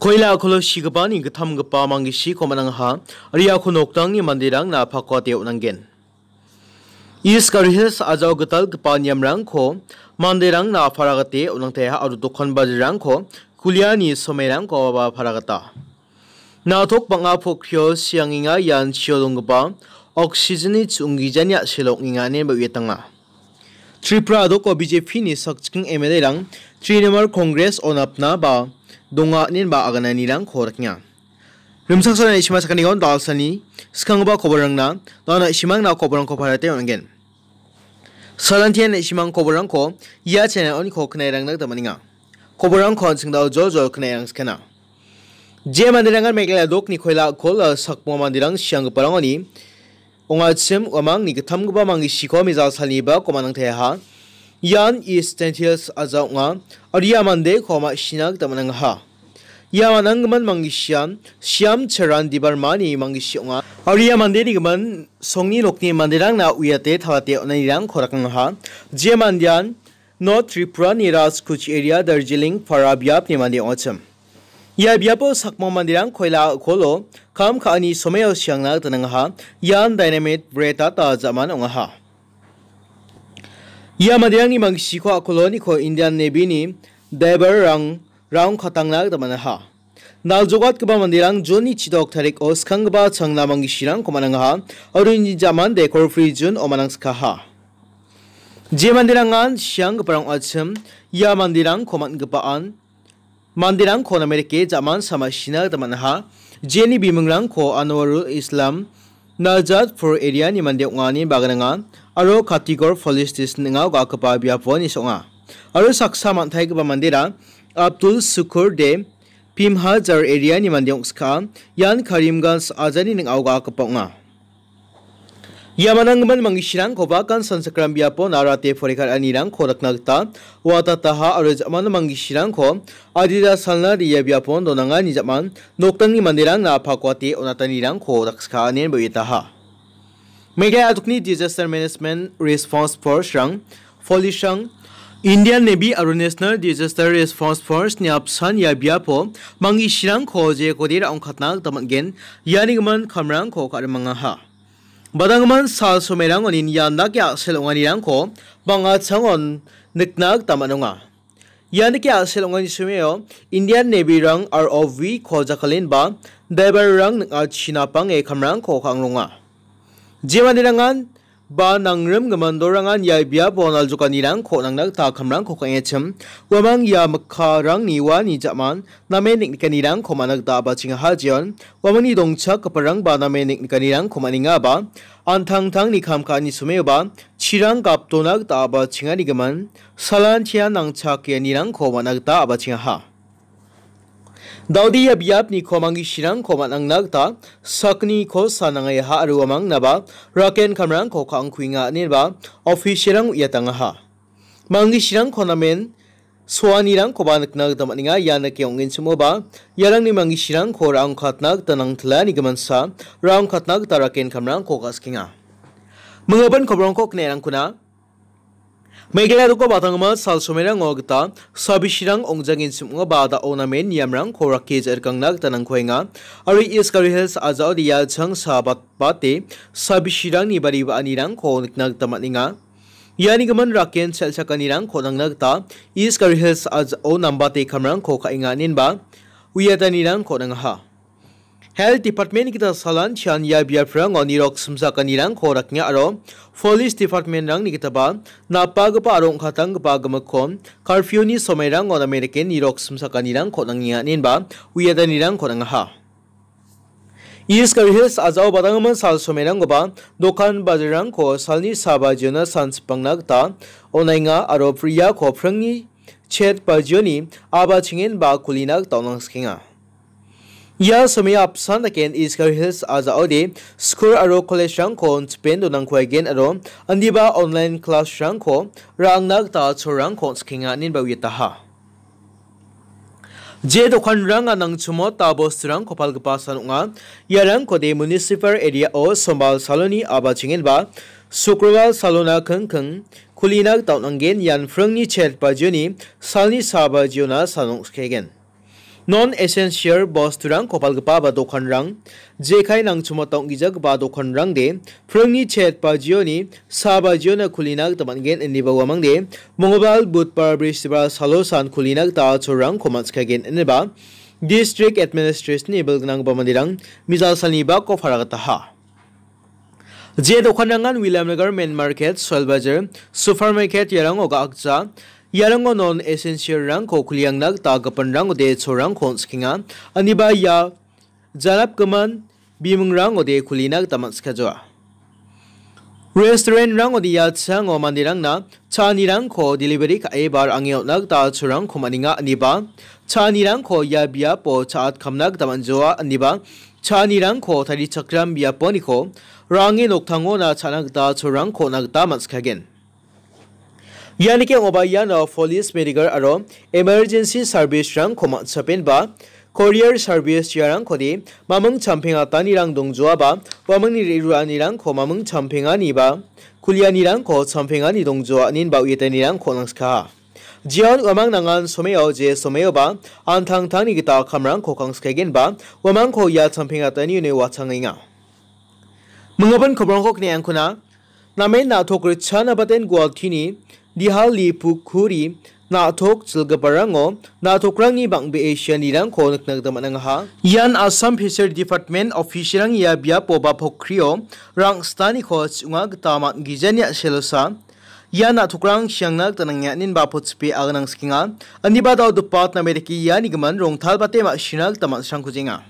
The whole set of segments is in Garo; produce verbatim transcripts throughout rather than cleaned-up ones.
Koila a·kolo sigipani gittamgipa manggisiko man·angaha, riako nokdangni manderangna pakuate on·angen. East Garo Hills a·jao gitalgipa niamrangko manderangna paragate on·angteha aro dokan badirangko kuliani somerangkoba paragata. Na·tok bang·a pokrio siangenga ian chio donggipa oksijenni chu·onggijani a·selo ong·enga ine ba uiatanga. Tripura a·doko B J P-ni sakchikking M L A-rang Trinamool Congress-o napna ba donga ine ba agananirangko dakenga. Rimchaksoani na·simang sakgnion dalsani skanggipa koborrangna dona na·simangna koborrangko parate on·gen. Salantian na·simang koborrangko ia channel-oniko knairangna gita man·enga. Koborrangko an·ching dao joljol knairang skana. Je manderangan Meghalaya dokni koila a·kol sakbonga manderang sianggiparangoni ong·achim uamangni gittamgipa manggisiko mejal salniba komanangteaha. Ian East Jaintia Hills a·ja ong·a. Aro ia mandeko ma·sina gita man·angaha. Ia man·anggimin manggisian Siam Charan Debbarmani manggisi ong·a. Aro ia mandeni gimin songni nokni manderangna uiate talate on·anirangko rakangaha. Je mandean North Tripurani Rajkuch area Darjeeling para biapni mande ong·achim. Ia biapo sakbonga manderang koila a·kolo kam ka·ani someo siangna gita nangaha. Ian dynamite bretata ja·man ong·aha. Ia manderangni manggisiko a·koloniko Indian Navy-ni diver-rang raung katangna gita man·aha. Naljogatgipa manderang June-ni chidok tariko skanggipa changna manggisirangko man·angaha, aro uni ja·mande Korpri June-o manangskaha. Je manderangan sianggiparang ong·achim, ia manderangko man·gipaan manderangko name dake ja·man sama sina gita man·aha. Jeni bimingrangko Anwarul Islam, Najatpur area-ni mande ong·ani bagananga aro Katigor Police Station ning·ao ga·akipa biaponi song·a. Aro saksa man·taigipa mandera Abdul Sukur de Pimhajar area-ni mande ong·skaa, ian Karimganj ajani ning·ao ga·akipa ong·a. Ia mananggimin manggisirangkoba kan sanchakram biapo narate porikar anirangko dakna gita watataha aro ja·mano manggisirangko adita salna ria biapon donangani ja·man nokdangni manderangna pakuate on·atanirangko dakska inen bo uiataha. Meghalaya a·dokni Disaster Management Response Force-rang, Police-rang, Indian Navy aro National Disaster Response Force-ni apsan ia biapo manggisirangko jekode ra·ongkatna gita man·gen, iani gimin kamrangko ka·rimangaha. Badanggimin sal somerangoni ian dake a·sel ong·anirangko bang·a changon nikna gita man·onga. Ian dake a·sel ong·ani somao Indian Navy-rang R O V-ko jakkalenba diver-rang ning·achi napange kamrangko ka·angronga. Je manderangan ba nangrim gimin dorangan ia biapo naljokanirangko nangna gita kamrangko ka·engachim, uamang ia mikkarangni uani ja·man namen nik·nikanirangko man·a gita a·bachengaha jeon, uamangni dongchakgiparangba namen nik·nikanirangko man·engaba, an·tangtangni kam ka·ani someoba chirang gapdona gita a·bachengarigimin salantian nangchakianirangko man·a gita a·bachengaha. Daode ia biapni komanggi sirangko man·angna gita sakgniko sanangaha aro uamangnaba raken kamrangko ka·angkuenga ineba official-rang uiatangaha. Manggi sirangko namen soanirangkoba nikna gita man·enga. Ia nike ong·genchimoba, iarangni manggi sirangko ra·ongkatna gita nangtila nigiminsa ra·ongkatna gita raken kamrangko ka·sikenga. Mingabin kobrongko kne·rangkuna. Meghalaya doko batanggimin sal somerango gita sabisirang ong·jangenchim ong·aba dao namen niamrangko rake ja·rikangna gita nangkuaenga. Aro East Garo Hills a·jaode ia changsa bat-, bate sabisirangni bari ba·anirangko nikna gita man·enga. Iani gimin raken sel·chakanirangko nangna gita East Garo Hills a·jao nambate kamrangko ka·enga inenba uiatanirangko nangaha. Health Department-ni gita salantian ia biaprango nirok simsakanirangko rakenga aro Police Department-rangni gitaba napagipa aro ong·katanggipa gimikko curfew-ni somerango name dake nirok simsakanirangko nangenga inenba uiatanirangko nangaha. East Garo Hills a·jao badanggimin sal somerangkoba dokan bajarrangko salni sa bajiona san chipangna gita on·aenga aro priako pringni chet bajioni a·bachengenba kulina gita on·angsikenga. Ia somoi apsan daken East Garo Hills a·jaode skul aro college-rangko on·chipen donangkuaigen aro indiba online class-rangko ra·angna gita cholrangko on·sikenga inenba uiataha. Je dokanrangan nangchimota bosturangko palgipa san ong·a. Iarangkode municipal area-o sombal saloni a·bachengenba sukrobar salona kingking kulina gita on·angen. Ian pringni chet bajioni salni sa bajiona san ong·sikegen. Non-essential bosturangko palgipa ba dokanrang, jekai nangchomotna ong·gijagipa dokanrangde, pringni chet bajioni sa bajiona kulina gita man·gen ineba uamangde, Mongolbar, Budbar, Bristibar salo san kulina gita cholrangko man·sikagen ineba District Administration-ni bilgnangba manderang mijal salni bako paragataha. Je dokanrangan Williamnagar Main Market, Soil Bazar, Supermarket iarango ga·akja. Iarango non-essential-rangko kuliangna gita gipinrangode cholrangko on·sikenga. Aniba ia janapgimin bimingrangode kulina gita man·sikajoa. Restaurant-rangode ia chango manderangna cha·anirangko delivery ka·e ba ra·ange on·na gita cholrangko man·enga aniba cha·anirangko ia biapo cha·at kamna gita man·joa aniba cha·anirangko tarichakram biaponiko ra·ange noktangona cha·na gita cholrangko on·na gita man·sikagen. Ia nike ong·oba iano police, medical aro emergency service-rangko man·chapenba courier service iarangkode maming champengatanirang dongjoaba uamangni re·ruanirangko maming champengani ba kulianirangko champengani dongjoa anin ba uiatanirangko nangskaha. Jeon uamang nangan someo je someoba antangtangni gita kamrangko kangskagenba uamangko ia champengatani une wachangenga. Mingapin kobrangko kneangkuna, namen na·tok ritchana baten Guwahati-ni Dihali Pukhuri na·tok chilgiparango na·tokrangni bang·bee sianirangko nikna gita man·angaha. Ian Assam Fishery Department office-rang ia biapo ba pokrio rang sitaniko chi·onga gita man·gijani a·selosa. Ia na·tokrang siangna gita nange anin ba pochipe aganang sikenga. Aniba dao dipatna medeke iani gimin rongtalbate ma·sina gita man·srangko jenga.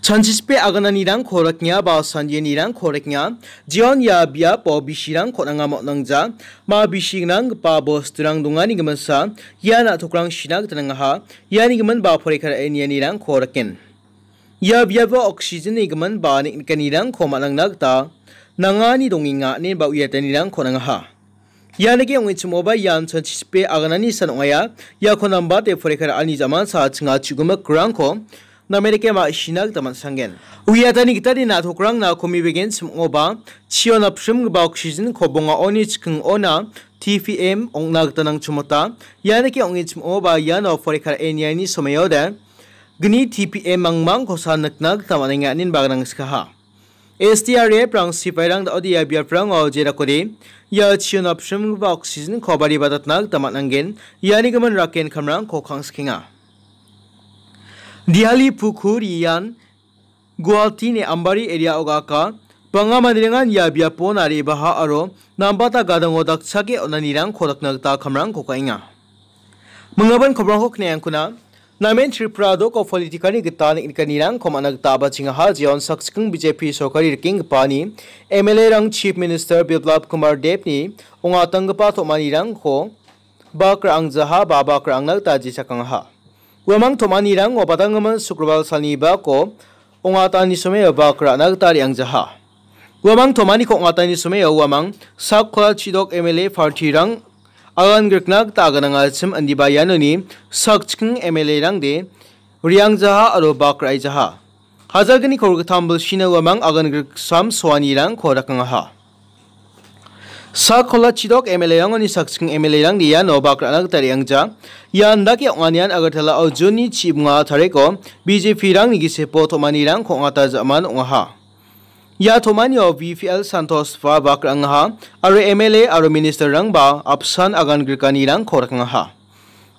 Chanchisipe agananirangko rakenga ba sandianirangko rakenga. Jeon ia biapo bisirangko nangamo nangja. Ma bisi gnanggipa bosturang dongani giminsa ia na·tokrang sina gita nangaha. Iani gimin ba poreka ra·e nianirangko raken. Ia biapo oxygen-ni gimin ba nik-, nikanirangko man·angna gita nangani dongenga ine ba uiatanirangko nangaha. Ia nike ong·e chim·oba ian chanchisipe aganani san ong·aia. Iako nambate poreka ra·ani jamansa chinga chu·gimikrangko namerike ma·sina gita man·sanggen. Uiatani gitade na·tokrangna komibegen chim·oba chio naprimgipa oxygen-ko bongaoni chiking ona T P M ong·na gita nangchimota. Ia nike ong·e chim·oba iano poreka ra·e niani someode gni T P M mangmangkosa nikna gita man·enga inen ba gnang sikaha. S D R F-rang sipairang da·ode ia biaprango jerakode ia chio naprimgipa oxygen-ko bari batatna gita man·angen. Iani gimin raken kamrangko kangsikenga. Dihali Pukhuri ian Guwahati-ni Ambari area-o ga·aka. Bang·a manderangan ia biapo naribaha aro nambata gadango dakchake on·anirangko dakna gita kamrangko ka·enga. Mingnaban kobrangko kneangkuna, namen Tripura doko political-ni gita nik-, nikanirangko man·a gita abachengaha, jeon sakchikking B J P sorkari rikenggipani M L A-rang Chief Minister Biplab Kumar Dev-ni ong·atanggipa tom·anirangko bak ra·angjaha ba bak ra·angna gita jechakangaha. Uamang tom·anirango badanggimin Sukrobal salni bako ong·atani someo bak ra·na gita re·angjaha. Uamang tom·aniko ong·atani someo uamang sak kola chidok M L A party-rang agan grikna gita aganangachim indiba ianoni sakchikking M L A-rangde re·angjaha aro bak ra·ijaha. Hajalgni kolgittam bilsina uamang agan griksam soanirangko dakangaha. Sak kola chidok M L A-rangoni sakchikking M L A-rangde iano bak ra·na gita re·angja. Ian dake ong·anian Agartala-o June-ni chibonga tariko B J P-rangni gisepo tom·anirangko ong·ata ja·man ong·aha. Ia tom·anio B P L Santos-ba bak ra·angaha aro M L A aro minister-rangba apsan agan grikanirangko rakangaha.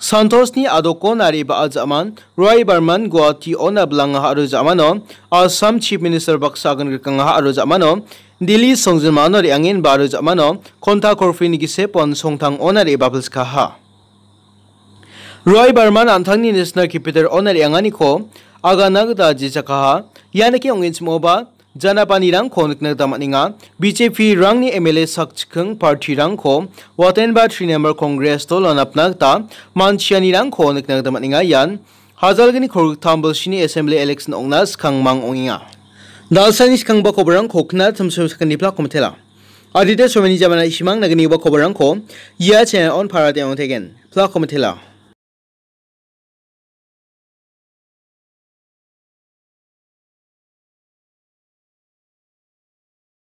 Santos-ni adokon ari ba·a ja·man, Roy Barman Guwahati-ona bilangaha aro ja·mano Assam Chief Minister baksa agan grikangaha aro ja·mano Delhi songjinmano re·angenba aro ja·mano Konta Korpini gisepon songtang-ona re·bapilskaha. Roy Barman an·tangni National Capital-ona re·anganiko agana gita jechakaha. Ianike ong·enchimoba janapanirangko nikna gita man·enga. B J P-rangni M L A sakchikking party-rangko watenba three number Congress dolo napna gita manchianirangko nikna gita man·enga. Ian hajalgni kolgittam bilsini assembly election ong·na skangmang ong·enga. Dalsani skangba koborangko kna timsim sakgni plak komitela. Adita someni jamana isimang nagniba koborangko ia channel on para te ong·tegen. Plak komitela.